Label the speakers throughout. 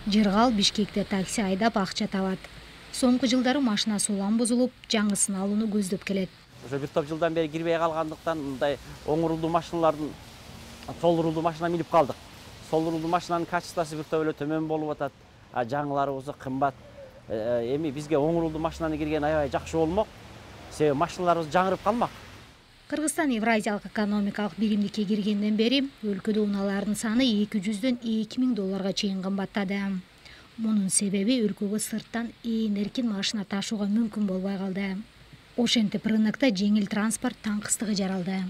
Speaker 1: Жыргал Бишкекте такси айдап акча табат. Соңку жылдары машинасы улам бузулуп, жаңысын алууну көздөп келет.
Speaker 2: Ошо бир топ жылдан бери кирбей калгандыктан мындай оң рулдуу машиналардын сол рулдуу машина минип калдык. Сол рулдуу машинанын качествосу бир топ эле төмөн болуп атат. Жаңылары болсо кымбат. Эми бизге оң рулдуу машинаны кирген аябай жакшы болмок. Себеби машиналарыбыз жаңырып калмак.
Speaker 1: Кыргызстан Евразиялык экономикалык биримдикке киргенден бери өлкөдө унаалардын саны 200дөн 2000 долларга чейин кымбаттады. Мунун себеби өлкөгө сырттан эркин машина ташууга мүмкүн болбой калды. Ошентип рынокто жеңил транспорт таңкыстыгы жаралды.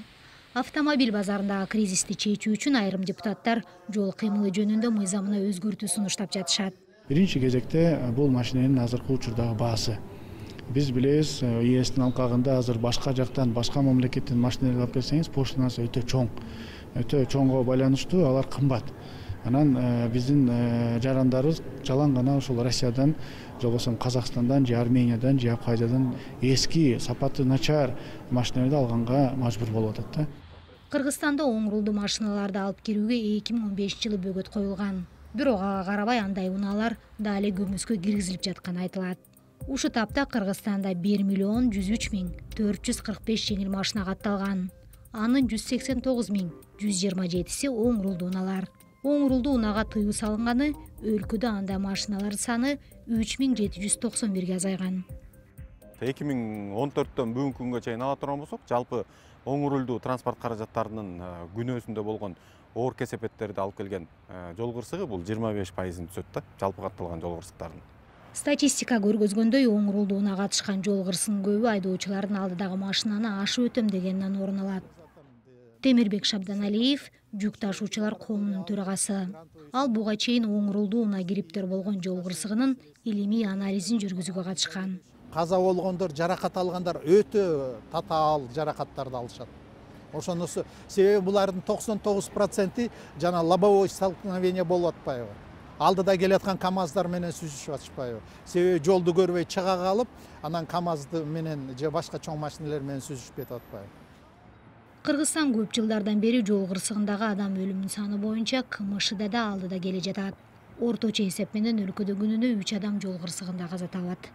Speaker 1: Автомобиль базарындагы кризисти чечүү үчүн айрым депутаттар жол кыймылы жөнүндө мыйзамына өзгөртүү сунуштап жатышат.
Speaker 3: Биринчи кезекте бул машинанын азыркы учурдагы баасы. Биз билебиз, ЕСтин алкагында азыр башка жактан, башка мамлекеттен машиналарды алып келсеңиз, поштасы өтө чоң. Өтө чоңго байланыштуу алар кымбат. Анан биздин жарандарыбыз жалаң гана ошол Россиядан, же болбосо Казакстандан, же Армениядан, же Абхазиядан эски, сапаты начар машиналарды алганга мажбур болуп атат да.
Speaker 1: Кыргызстанда оң рулдуу машиналарды алып кирүүгө 2015-жылы бөгөт коюлган. Бирок ага карабай андай унаалар дали көмүскө киргизилип жатканы айтылат. Ушу тапта Кыргызстанда 1.103.445 жеңил машина катталган. Анын 189.127си оң рулдуу унаалар. Оң рулдуу унаага тыюу салынганы, өлкөдө андай машиналар саны 3791ге азайган.
Speaker 4: 2014төн бүгүнкү күнгө чейин ала турган болсок, жалпы оң рулдуу транспорт каражаттарынын күнөөсүндө болгон оор кесепеттерди алып келген жол кырсыгы бул 25%-ын түзөт да, жалпы катталган жол кырсыктардын.
Speaker 1: Статистика көргөзгөндөй, оң рулдуу унаа катышкан жол кырсыгынын көбү айдоочулардын алдыдагы машинаны ашып өтөм дегенинен орун алат. Темирбек Шабданалиев жүк ташуучулар коомунун төрагасы. Ал буга чейин оң рулдуу унаа кириптер болгон жол кырсыгынын илимий анализин жүргүзүүгө катышкан.
Speaker 5: Каза болгондор, жаракат алгандар өтө татаал жаракаттарды алышат. Ошонусу себеби булардын 99% жана лобовой столкновение болуп атпайбы. Алдыда келаткан КАМАЗдар менен сүзүшүп атышпайбы. Себеби жолду көрбөй чыга калып, анан КАМАЗды менен же башка чоң машиналар менен сүзүшүп кетип атпайбы.
Speaker 1: Кыргызстан көп жылдардан бери жол кырсыгындагы адам өлүмүнүн саны боюнча КМШда да алдыда келе жатат. Орточо эсеп менен өлкөдө күнүнө 3 адам жол кырсыгында каза табат.